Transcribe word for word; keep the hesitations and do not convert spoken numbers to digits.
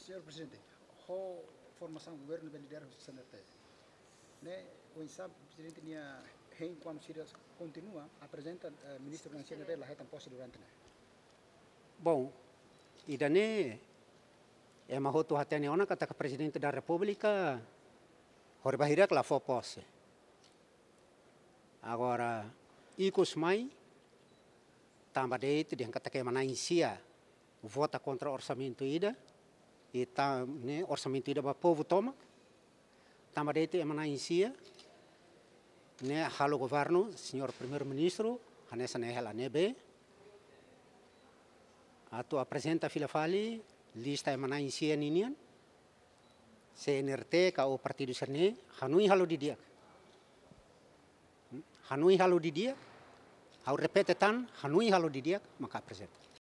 Señór Prezidente, ho formasaun governu bele lidera husi C N R T ne'e, oinsá Prezidente nia hein kuandu sira kontinua aprezenta, eh, ministru husi C N R T la hetan pose durante ne'e? Bom, ida-ne'e ema hotu hatene ona katak Prezidente da Repúblika hori ba hirak la fó pose. Agora, ikus mai, tanba de'it dehan katak ema na'in-sia vota kontra orsamentu ida, i tan ne'e orsamentu ida ba povu tomak, tanba de'it ema na'in-sia ne'e halo governu, Señór Primeiru-Ministru, hanesan ne'e hela ne'ebé, atu aprezenta fila fali lista ema na'in-sia ninian, C N R T ka ou partidu sira-ne'e hanoin halo didi'ak. Hanoin halo didi'ak, ha'u repete tan, hanoin halo didi'ak, maka aprezenta.